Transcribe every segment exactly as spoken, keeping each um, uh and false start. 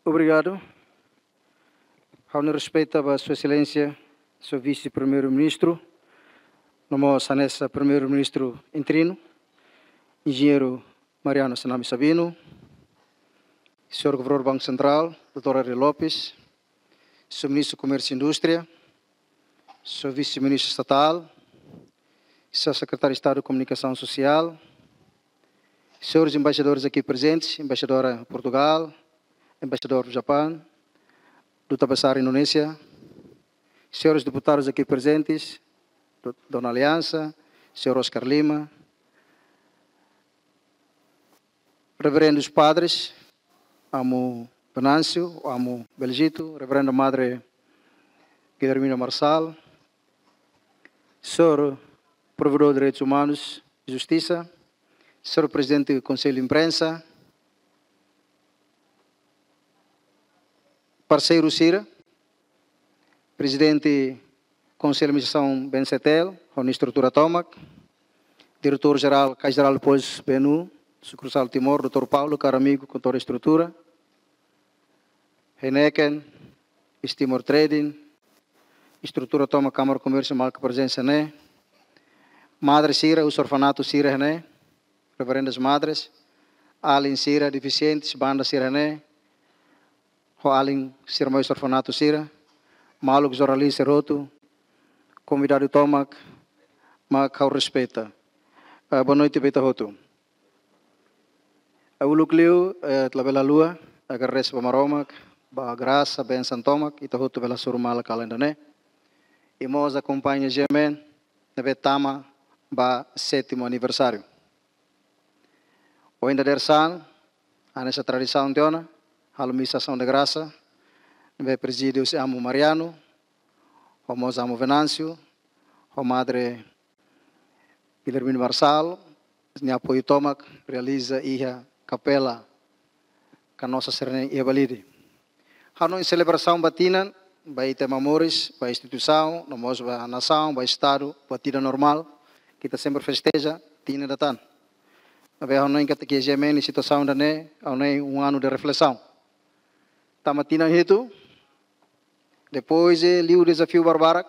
Obrigadu. Ha'u-nia respeitu ba Sua Exelénsia, Sua Vise-Primeiru-Ministru, no mós hanesan Primeiru-Ministru interinu, Enjeñeiru Mariano Sename Sabino, Señór Governadór Banku Sentrál, doutór Ari Lopes, Señór Ministru Komérsiu i Indústria, Señór Vise-Ministru Estatál, Señór Sekretáriu Estadu Komunikasaun Sosiál, señores embaixadores aqui presentes, embaixadora Portugal, embaixadór Japão, Duta Besar Indonézia, señores deputadus aqui presentes, do-, Dona Aliança, señór Oscar Lima, reverendus padres, Amu Venâncio, Amu Belgito, Reverenda Madre Guilhermina Marçal, señór Provedór Direitus Umanus i Justisa, señór Prezidente Konsellu Imprensa, parseiru sira, Prezidente Konsellu Administrasaun B N C T L, ho nia estrutura tomak, Diretór Jerál, Caixa Geral de Depózitos, B N U, Sukursál Timor, doutór Paulo, karu amigu, ho toda estrutura, Heineken, East Timor Trading, estrutura tomak Kámara Komérsiu, maluk prezensa ne'e, madre sira, husi orfanatu sira ne'e, reverendas madres, alin sira, defisientes, banda sira ne'e, ho alin sira mai husi orfanatu sira, maluk jornalista hotu, konvidadu tomak, mak ha'u respeita. Eh, boa noite ba ita hotu. Eh, uluk liu, eh, labele haluha, agradese ba Maromak, ba grasa, bensaun tomak, ita hotu bele hasoru malu kalan ida-ne'e. I mós akompaña GMN, ne'ebé tama ba sétimu aniversáriu. Ohin dadeer-saan, hanesan tradisaun tiha ona, halo misa asaun de grasa, ne'ebé prezide husi Amu Mariano, ho mós Amu Venâncio, ho Madre Guilhermina Marçal, nia apoiu tomak, realiza iha kapela Canossa Serena iha Balide. Ha'u hanoin selebrasaun ba tinan, ba ita ema moris, ba instituisaun, no mós ba nasaun, ba estadu, ba tinan normál, ita sempre festeja tinan ida tan. Maibé ha'u hanoin katak GMN situasaun ida-ne'e, ha'u hanoin um ano de reflexão. Tama tinan hitu, depois de liu dezafiu barbarak,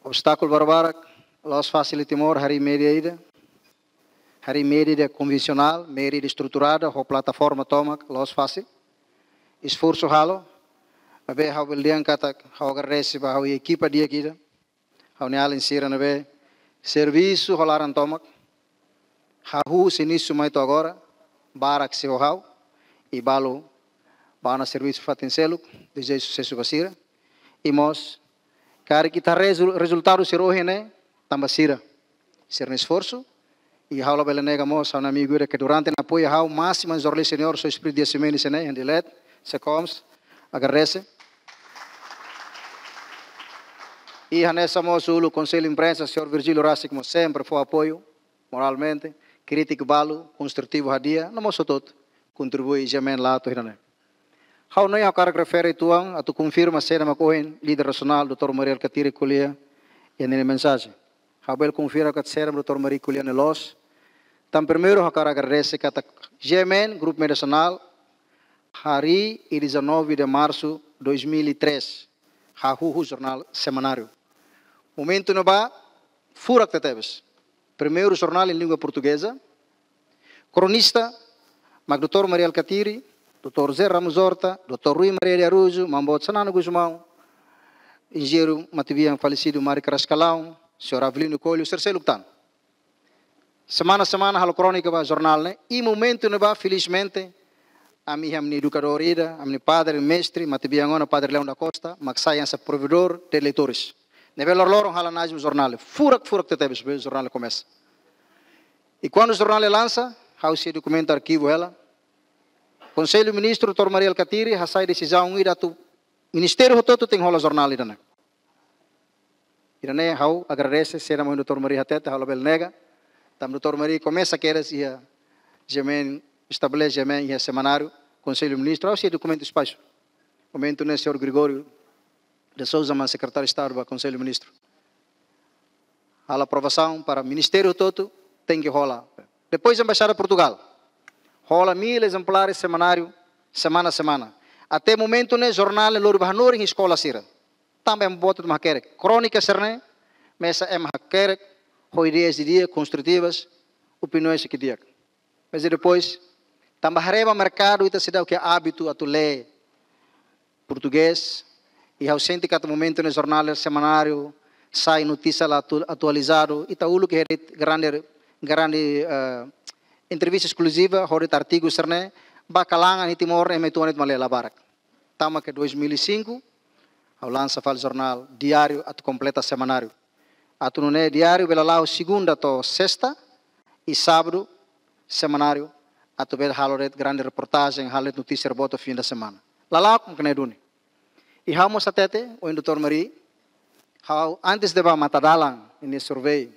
obstákulu barbarak, la'ós fasil iha Timor, harii média ida. Harii média ida konvensionál, média ida estruturada, ho plataforma tomak, la'ós fasil. Esforsu halo, maibé ha'u bele dehan katak ha'u agradese ba ha'u-nia ekipa di'ak ida. Ha'u-nia alin sira ne'ebé servisu ho laran tomak. Hahú husi inísiu mai to'o agora, barak sei ho ha'u, i balu bá ona servisu fatin seluk, dezeja susesu ba sira. I mós, karik ita rezu-, rezultadu sira ohin ne'e, tanba sira. Sira-nia esforsu, i ha'u labele nega mós, ha'u-nia amigu ida ke durante ne'e apoia ha'u, másimu jornalista senior, señór Espírito Dias Ximenes, ne'e, Hendilet, Secoms, agradese. I hanesan mós uluk Konsellu Imprensa, señór Virgílio Rasik, mós sempre fó apoiu, moralmente, krítika balu, konstrutivu hadi'a, no mós hotu-hotu, kontribui GMN la'o to'o ida-ne'e. Ha'u hanoin ha'u hakarak refere uitoan, atu konfirma saida mak ohin, líder nasionál, doutór Mari Alkatiri ko'alia, iha ninia mensajen. Ha'u bele konfirma katak saida mak doutór Mari ko'alia ne'e loos. Tan primeiru ha'u hakarak agradese katak GMN, Grupu Média Nasionál, harii iha dezanove de março dois mil e três, hahú husi jornál semanáriu. Momentu ne'ebá, furak tebetebes. Primeiru jornál em língua portuguesa, kronista, mak doutór Mari Alkatiri, doutór José Ramos Horta, doutór Rui Maria de Araújo, Maun Boot Xanana Gusmão, enjeñeiru matebian falesidu Mari Carrascalão, señór Avelino Coelho, sira seluk tan. Semana-semana halo krónika ba jornál ne'e, i momentu ne'ebá, felizmente, ami iha ami-nia edukadór ida, ami-nia padre, mestre, matebian ona, Padre Leão da Costa, mak sai hanesan provedór de leitores. Ne'ebé loroloron halo análise jornál, furak, furak tebetebes, be jornál komesa. I kuandu jornál lansa, ha'u sei dokumentu arkivu hela. Konsellu Ministru, doutór Mari Alkatiri, hasai desizaun ida atu ministériu hotu-hotu tenke hola jornál ida-ne'e. Ida-ne'e ha'u agradese, saida mak ohin doutór Mari hatete, ha'u labele nega. Tanba doutór Mari komesa kedas iha GMN, estabelese GMN iha semanáriu, Konsellu Ministru, ha'u sei dokumentu espasu. Momentu ne'e señór Gregório de Sousa, mak Sekretáriu Estadu ba Konsellu Ministru, halo aprovasaun para ministériu hotu-hotu tenke hola. Depois Embaixada Portugal, hola mil ezemplares semanáriu, Semana-semana. Até momentu ne'e jornál ne'e lori ba hanorin eskola sira. Tanba ema boot mak hakerek. Krónika sira-ne'e, mesak ema hakerek, ho ideias di'ak, konstrutivas, opiniaun ne'ebé di'ak. Mas depois, tanba haree ba merkadu ita seidauk iha hábitu atu lee portugés, i ha'u sente katak momentu ne'e jornál, semanáriu, sai notísia la atu-, atualizadu, ita uluk iha de'it grande, grande, eh, entrevista eskluziva, ho de'it artigu sira-ne'e, ba kalan iha Timor, ema uitoan de'it mak lee, la barak. Tama iha dois mil e cinco, ha'u lansa fali jornál diáriu atu kompleta semanáriu. Atu nune'e diáriu bele la'o segunda to'o sesta, i sábadu semanáriu atu bele halo de'it grande reportajen, halo de'it notísia boot fim de semana. Lala'ok mak ne'e duni. I ha'u mós hatete, ohin doutór Mari, ha'u antes de bá Matadalan, iha ne'e survey,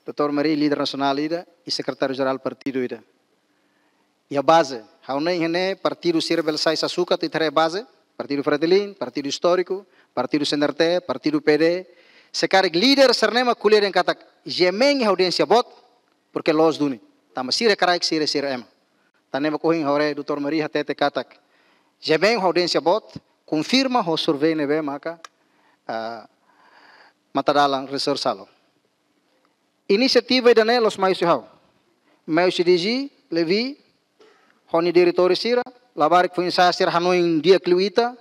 doutór Mari líder nasionál ida, i sekretáriu jerál partidu ida. Iha baze, ha'u hanoin iha ne'e partidu sira bele sai sasukat, ita haree baze, Partidu Fretilin, Partidu Istóriku, Partidu C N R T, Partidu P D. Se karik líder sira-ne'e mak ko'alia dehan katak GMN iha audiénsia boot, porque loos duni. Tanba sira kraik sira, sira ema. Tan ne'e mak ohin ha'u haree doutór Mari hatete katak GMN iha audiénsia boot, konfirma ho survey ne'ebé maka, ah, Matadalan Research halo. Inisiativa ida-ne'e la'ós mai husi ha'u. Mai husi D G Levi, ho nia diretór sira, labarik foin-sa'e sira hanoin di'ak liu ita,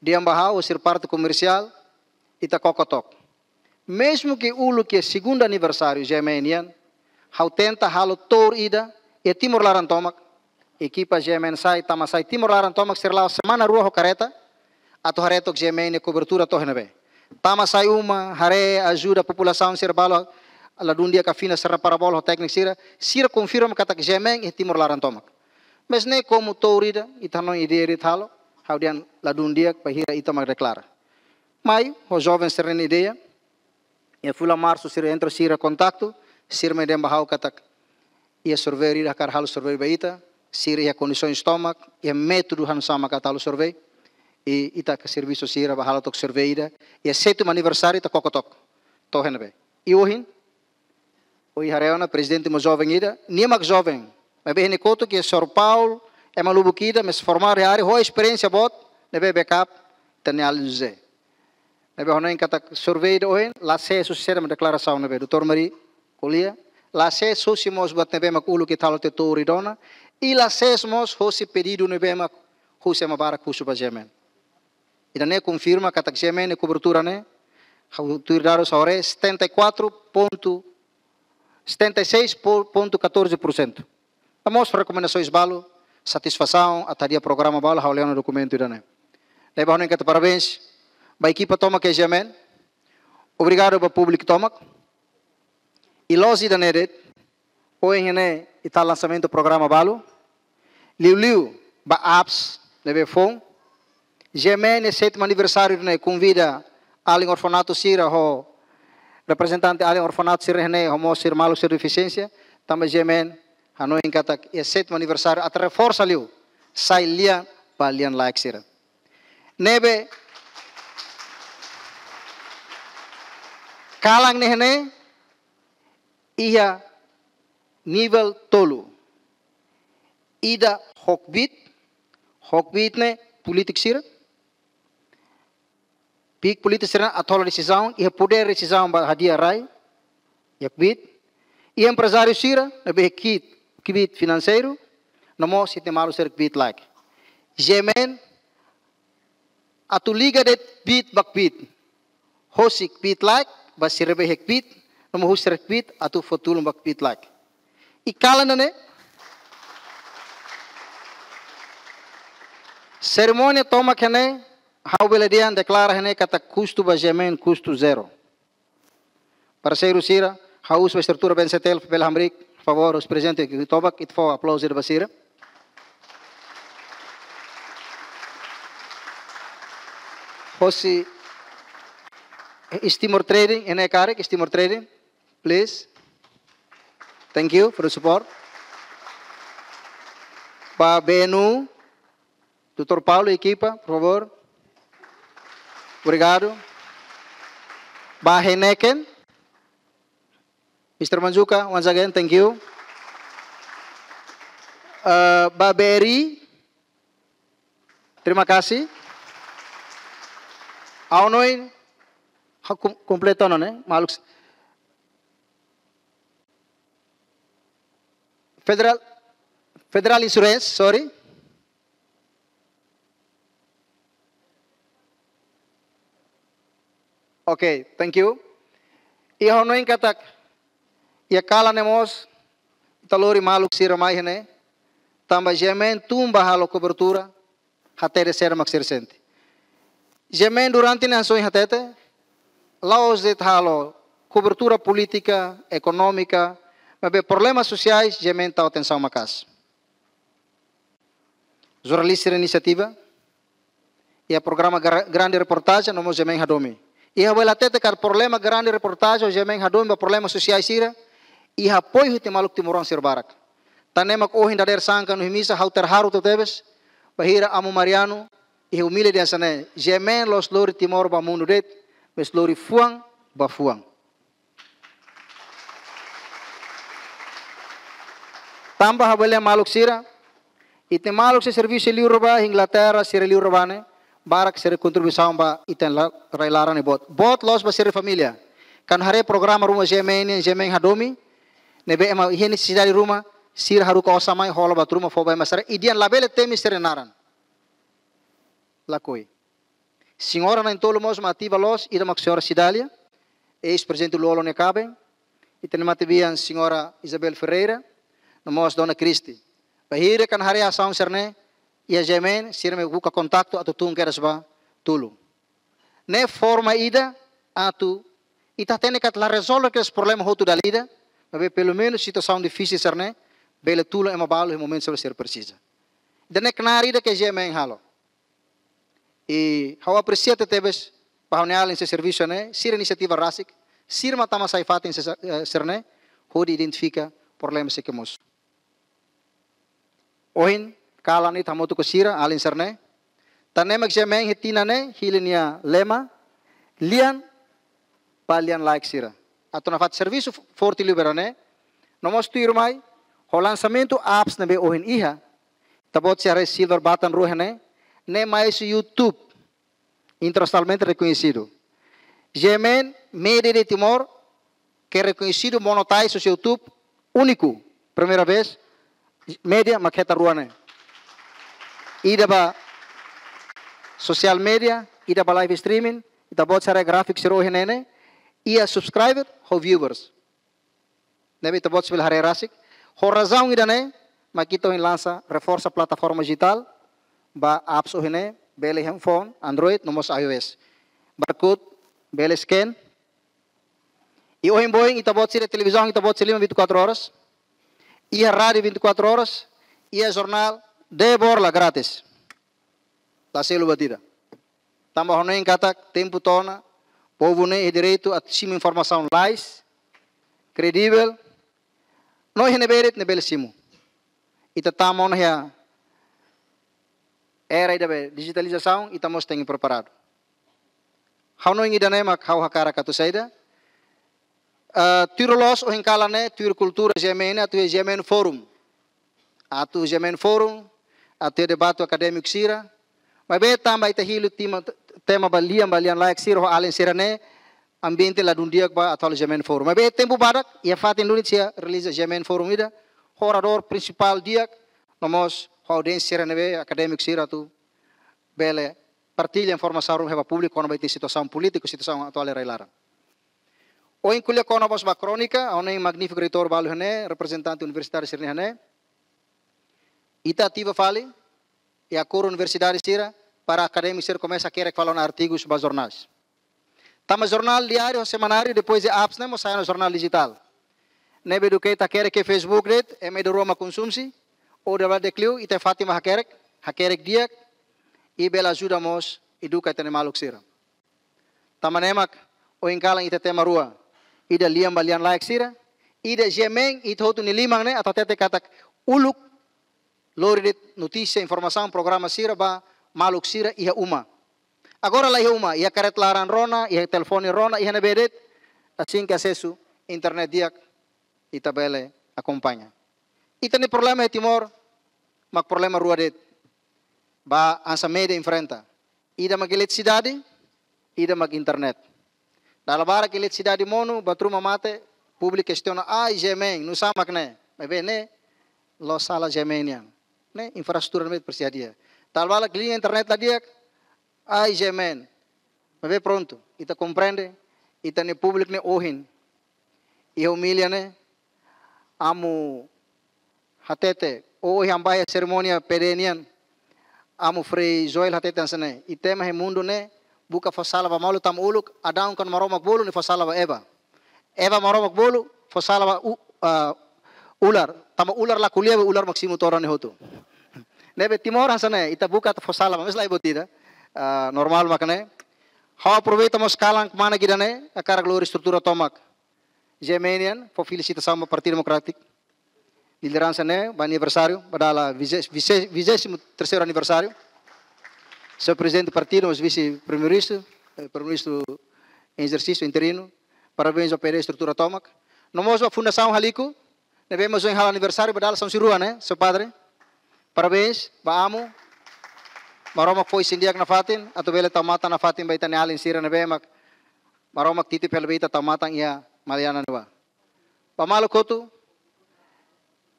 dehan ba ha'u, husi parte komersiál, ita koko took. Mezmu ke uluk iha segunda aniversáriu GMN nian, ha'u tenta halo tour ida iha Timor laran tomak, ekipa GMN sai, tama sai Timor laran tomak, sira la'o semana rua ho kareta, atu haree took GMN nia kobertura to'o iha ne'ebé. Tama sai uma, haree, ajuda populasaun sira balu, ladún di'ak, afina sira-nia parabola ho tékniku sira, sira konfirma katak GMN iha Timor laran tomak. Mas ne'e komu tour ida, ita hanoin ideia de'it halo, ha'u dehan ladún di'ak, bainhira ita mak deklara. Mai, ho joven sira-nia ideia, iha fulan marsu sira entra, sira kontaktu, sira mai dehan ba ha'u katak iha survey ida hakarak halo survey ba ita, sira iha kondisoens tomak, iha métodu hanesan mak atu halo survey, i ita hakerek servisu sira ba halo took survey ida, iha sétimu aniversáriu ita koko took, to'o iha ne'ebé. I ohin, ohin haree ona prezidente mós joven ida, nia mak joven, maibé iha nia kotuk iha São Paulo, ema lubuk ida, mas formadu iha área, ho esperiénsia boot, ne'ebé backup, Daniel José. Ne'ebé ha'u hanoin katak survey ida ohin, la ses husi saida mak deklarasaun ne'ebé doutór Mari ko'alia, la ses husi mós buat ne'ebé mak uluk ita halo tiha tour ida ona, i la ses mós husi pedidu ne'ebé mak husi ema barak husu ba GMN. Ida-ne'e konfirma katak GMN nia kobertura ne'e, ha'u tuir dadus ha'u haree, setenta e quatro ponto, setenta e seis ponto catorze por cento. Ita mós rekomendasoens balu, satisfasaun, atu hadi'a programa balu, ha'u lee ona dokumentu ida-ne'e. Ne'ebé ha'u hanoin katak parabéns ba ekipa tomak iha GMN, obrigadu ba públiku tomak. I loos ida-ne'e de'it, ohin ne'e ita lansamentu programa balu, liuliu ba apps ne'ebé foun. GMN iha sétimu aniversáriu ne'e konvida alin orfanatu sira ho reprezentante alin orfanatu sira ne'e ho mós sira maluk sira defisiénsia, tanba GMN hanoin katak iha sétimu aniversáriu atu reforsa liu, sai lian ba lian-laek sira. Ne'ebé kalan ne'e ne'e iha nivel tolu. Ida ho kbiit, ho kbiit ne'e polítiku sira, kbiit polítiku sira atu hola desizaun, iha podér desizaun ba hadi'a rai, iha kbiit. Iha emprezáriu sira, ne'ebé kbiit, kbiit finanseiru, no mós ita-nia maluk sira kbiit-laek. GMN atu liga de'it kbiit ba kbiit. Husi kbiit-laek, ba sira be iha kbiit, no mós husi sira kbiit, atu fó tulun ba kbiit-laek. I kalan ne'e, serimónia tomak iha ne'e, ha'u bele dehan deklara iha ne'e katak kustu ba GMN, kustu zero. Parseiru sira, ha'u husu ba estrutura BNCTL, bele hamriik, favór, husi prezidente tomak, ita fó aplauzu ida ba sira. Husi East Timor Trading, iha ne'e karik, East Timor Trading, please. Thank you for the support. Ba BNU, doutór Paulo, ekipa, por favór. Obrigadu. Ba Heineken, mister Manzuka, once again, thank you. Eh, ba BRI, Terima kasih. Ha'u hanoin, ha'u kom-, kompleta ona ne'e, maluk. Federal, Federal Insurance, sorry. Oke, thank you. Iha hanoin katak, iha kalan ne'e mós, ita lori maluk sira mai iha ne'e, tanba GMN tun ba halo kobertura, hatete saida mak sira sente. GMN durante ne'e hanesan ohin hatete, la'ós de'it halo kobertura polítika, ekonómika, maibé problema sosiais, GMN tau atensaun maka'as. Jornalista sira inisiativa, iha programa gra-, grande reportajen, no mós GMN hadomi. Iha bele hatete katak problema grande reportajen, GMN hadomi ba problema sosiais sira, iha apoiu husi maluk timoroan sira barak. Tan ne'e mak ohin dadeer-saan kuandu iha misa ha'u terharu tebetebes, bainhira Amu Mariano, iha umilde dehan hanesan ne'e, GMN la'ós lori Timor ba mundu de'it, mais lori fuan ba fuan. Tanba ha'u bele dehan maluk sira, ita-nia maluk sira servisu liur ba Inglaterra, sira liur ba ne'e, barak sira kontribuisaun ba ita-nia la-, rai-laran ne'e boot. Boot loos ba sira família. Kuandu haree programa ruma GMN, GMN hadomi, ne'ebé ema iha nesesidade ruma, sira haruka osan mai hola ba ruma fó ba ema sira, i dehan labele temi sira naran. Lakohi. Señora na'in-tolu mós mak ativa loos, ida mak Señora Cidália, eis-prezidente Lú-Olo nia kaben, ita-nia matebian Señora Isabel Ferreira, no mós Dona Cristi. Bainhira kuandu haree asaun sira-ne'e, iha GMN, sira mak buka kontaktu atu tun kedas ba tulun. Ne'e forma ida atu ita hatene katak la rezolve kedas problema hotu dala ida, maibé pelumenus situasaun difisil sira-ne'e, bele tulun ema balu iha momentu sira presiza. Ida-ne'e knaar ida ke GMN halo. I ha'u apresia tebetebes ba ha'u-nia alin sira servisu ne'e, sira inisiativa rasik, sira mak tama sai fatin sira, eh, sira-ne'e, hodi identifika problema sira ke mosu. Ohin, kalan ita hamutuk ho sira, alin sira-ne'e. Tan ne'e mak GMN iha tinan ne'e, hili nia lema, lian ba lian-laek sira. Atu nafatin servisu forte liu ba ida-ne'e. No mós tuirmai, ho lansamentu apps ne'ebé ohin iha, ita-boot sira haree silver button rua iha ne'e, ne'e mai husi YouTube, internasionalmente rekoñesidu. GMN, média de Timor, ke rekoñesidu monetize husi YouTube, úniku, primeira vez, média mak hetan rua ne'e. Ida ba social media, ida ba live streaming, ita-boot sira haree gráfiku sira ohin ne'e, iha subscriber ho viewers. Ne'ebé ita-boot sira bele haree rasik. Ho razaun ida-ne'e, mak ita ohin lansa reforsa plataforma dijitál, ba apps ohin ne'e, bele iha phone, Android, no mós iOS. Barcode, bele scan. I ohin boin, ita-boot sira televizaun, ita-boot sira liman vinte e quatro horas. Iha rádiu vinte e quatro horas, iha jornál, de borla grátis. La selu buat ida. Tanba ha'u hanoin katak tempu to'o ona, povu ne'e iha direitu atu simu informasaun lalais, kredivel, no iha ne'ebé de'it ne'e bele simu. Ita tama ona iha era ida be dijitalizasaun, ita mós tenke preparadu. Ha'u hanoin ida-ne'e mak ha'u hakarak atu saida. Eh, tuir loos ohin kalan ne'e, tuir kultura GMN ne'e, atu iha GMN Forum. Atu GMN Forum, atu iha debate akadémiku sira. Maibé tanba ita hili tema, tema ba lian, ba lian-laek sira, ho alin sira-ne'e, ambiente ladún di'ak ba atu halo GMN Forum. Maibé tempu badak, iha fatin duni sira realiza GMN Forum ida, ho oradór prinsipál di'ak, no mós ho audiénsia sira ne'ebé akadémiku sira atu bele partilla informasaun ruma ba públiku kona-ba ita-nia situasaun polítika, situasaun atuál iha rai-laran. Ohin ko'alia kona-ba mós ba krónika, ha'u hanoin magnífiku reitór balu iha ne'e, reprezentante universitáriu sira-ne'e iha ne'e. Ita ativa fali, i akordu universidade sira, para akadémiku sira komesa hakerek fali ona artigus ba jornais. Tanba jornál diáriu, semanáriu, depois de apps ne'e mós sai ona jornál dijitál. Ne'ebé duké ita hakerek iha Facebook de'it, ema ida rua mak konsumsi, ou dala barak liu, ita iha fatin mak hakerek, hakerek di'ak, i bele ajuda mós, eduka ita-nia maluk sira. Tanba ne'e mak, ohin kalan ita tema rua, ida lian ba lian-laek sira, ida GMN, ita hotu nia liman ne'e, atu hatete katak uluk, lori de'it notísia, informasaun, programa sira ba maluk sira iha uma. Agora la iha uma, iha karreta laran rona, iha telefone rona, iha ne'ebé de'it, asin ke asesu internet di'ak, ita bele akompaña. Ita-nia problema iha Timor, mak problema rua de'it. ba hanesan media enfrenta. Ida mak eletrisidade, ida mak internet. Dala barak eletrisidade monu, buat ruma mate, públiku kestiona, ah, GMN, nusá mak ne'e? Maibé ne'e, la'ós sala GMN nian. Ne'e, infraestrutura ne'e presiza di'ak. Dala barak liña internet la di'ak, ah, GMN. Maibé prontu, ita komprende, ita-nia públiku ne'e ohin. Iha Omilia ne'e, amu hatete, ohin ami bá iha serimónia P D nian, amu Frei Joel hatete hanesan ne'e, ita ema iha mundu ne'e, buka fó sala ba malu tama uluk, Adão kuandu Maromak bolu, nia fó sala ba Eva. Eva Maromak bolu, fó sala ba u-, ah, ular. Tama ular la ko'alia, ular mak simu todan nia hotu. Ne'ebé Timor hanesan ne'e, ita buka atu fó sala ba, mas la iha buat ida. Ah, normál mak ne'e. Ha'u aproveita mós kalan kmanek ida-ne'e, hakarak lori estrutura tomak GMN nian, fó felisitasaun ba Partidu Demokrátiku. Lideransa ne'e, ba aniversáriu, ba dala vise-, vise-, vigésimo terceiro aniversário. Señór Prezidente Partidu, mós Vise-Primeiru-Ministru, eh, Primeiru-Ministru em exercício, interino. Parabéns ba P D estrutura tomak. No mós ba Fundasaun Haliku, ne'ebé mós ohin halo aniversáriu, ba dala sanulu-resin-rua, ne'e, señór Padre? Parabéns, ba amu. Maromak fó isin di'ak nafatin, atu bele tau matan nafatin ba ita-nia alin sira ne'ebé mak Maromak titip hela ba ita tau matan iha Maliana ne'ebá. Ba maluk hotu,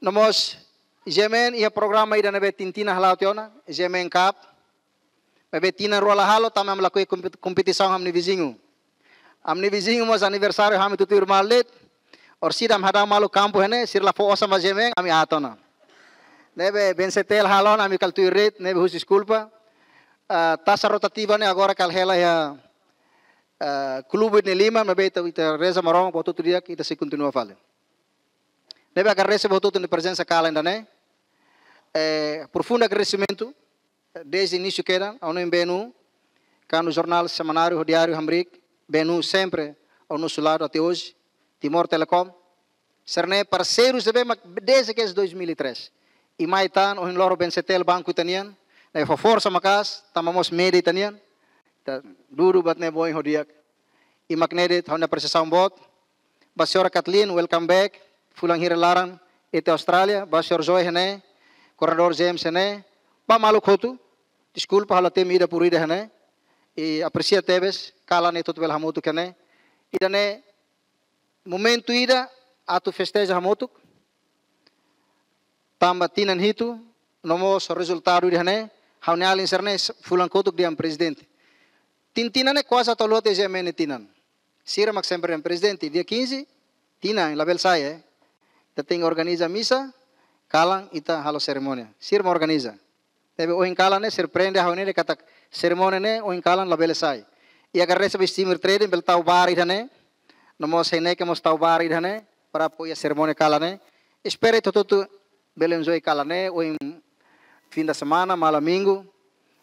no mós GMN iha programa ida ne'ebé tinan-tinan hala'o tiha ona, GMN Cup. Maibé tinan rua la halo, tanba ami lakohi kompet-, kompetisaun ho ami-nia viziñu. Ami-nia viziñu mós aniversáriu ho ami tutuir malu de'it. Orsida ami hadau malu kampu iha ne'e, sira la fó osan ba GMN, ami aat ona. Ne'ebé BNCTL halo ona, ami kala tuir de'it, ne'ebé husu deskulpa. Ah, tasa rotativa ne'e agora kala hela iha, ah, klube ne'e liman, maibé ita, ita reza Maromak, buat hotu di'ak, ita sei kontinua fali. Ne'ebé agradese buat hotu nia prezensa kalan ida-ne'e. Eh, profundu agradesimentu, eh, dezde inísiu kedas, ha'u-nia B N U, kuandu jornál semanáriu, diáriu hamriik, B N U sempre ao nosso lado até hoje, Timor Telecom, sira-ne'e parseirus ne'ebé mak dezde kedas dois mil e três. I mai tan, ohin loron BNCTL banku ita-nian, ne'e fó forsa maka'as, tanba mós media ita-nian, ita dudu buat ne'e ba oin ho di'ak. I mak ne'e de'it ha'u-nia apresiasaun boot. Ba señora Kathleen, welcome back. Fulan hira laran, ita iha Austrália. Ba señór Joy iha ne'e, koordenadór James iha ne'e. Ba maluk hotu, deskulpa ha'u la temi ida por ida iha ne'e. I apresia tebes, kalan ne'e ita hotu bele hamutuk iha ne'e. Ida-ne'e momentu ida atu festeja hamutuk. Tanba tinan hitu, no mós rezultadu ida-ne'e, ha'u-nia alin sira-ne'e fulan kotuk dehan prezidente. Tinan-tinan ne'e kuaze atu halo tiha GMN nia tinan. Sira mak sempre dehan prezidente, dia quinze, tinan, labele sai, eh. Ita tenke organiza misa, kalan ita halo serimónia. Sira mak organiza. Ne'ebé ohin kalan ne'e, sira prende ha'u ne'e katak serimónia ne'e, ohin kalan labele sai. I agradese ba Steamer Trading, bele tau bar ida-ne'e. No mós Heineken mós tau bar ida-ne'e, para apoia serimónia kalan ne'e. Espera ita hotu bele enjoy kalan ne'e, ohin fim de semana, malam minggu.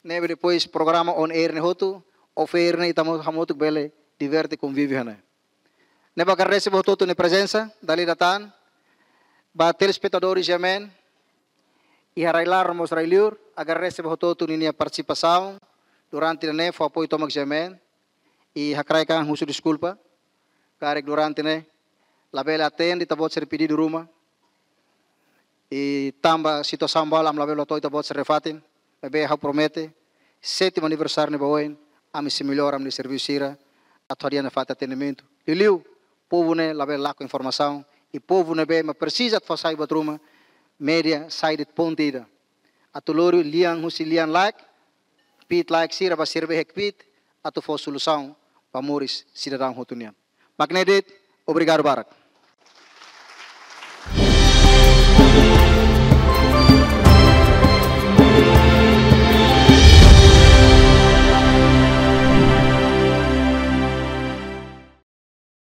Ne'ebé depois programa on air ne'e hotu, off air ne'e ita hamutuk bele diverte, konvive iha ne'e. Ne'ebé agradese ba hotu-hotu nia prezensa, dala ida tan, ba telespetadór GMN, iha rai-laran no mós rai-liur, agradese ba hotu-hotu ninia partisipasaun, durante ne'e fó apoiu tomak GMN, i hakarak husu deskulpa, karik durante ne'e, labele atende ita-boot sira-nia pedidu ruma, i tanba situasaun balu ami labele to'o ita-boot sira-nia fatin, maibé ha'u promete, sétimu aniversáriu ne'e ba oin, ami sei mellora ami-nia servisu sira, atu hadi'a nafatin atendimentu. Liuliu, povu ne'e labele lakon informasaun, i povu ne'ebé mak presiza atu fó sai buat ruma, media sai de'it ponte ida. Atu lori lian husi lian laek, kbiit-laek sira ba sira be iha kbiit, atu fó solusaun ba moris sidadaun hotu nian. Mak ne'e de'it, obrigadu barak.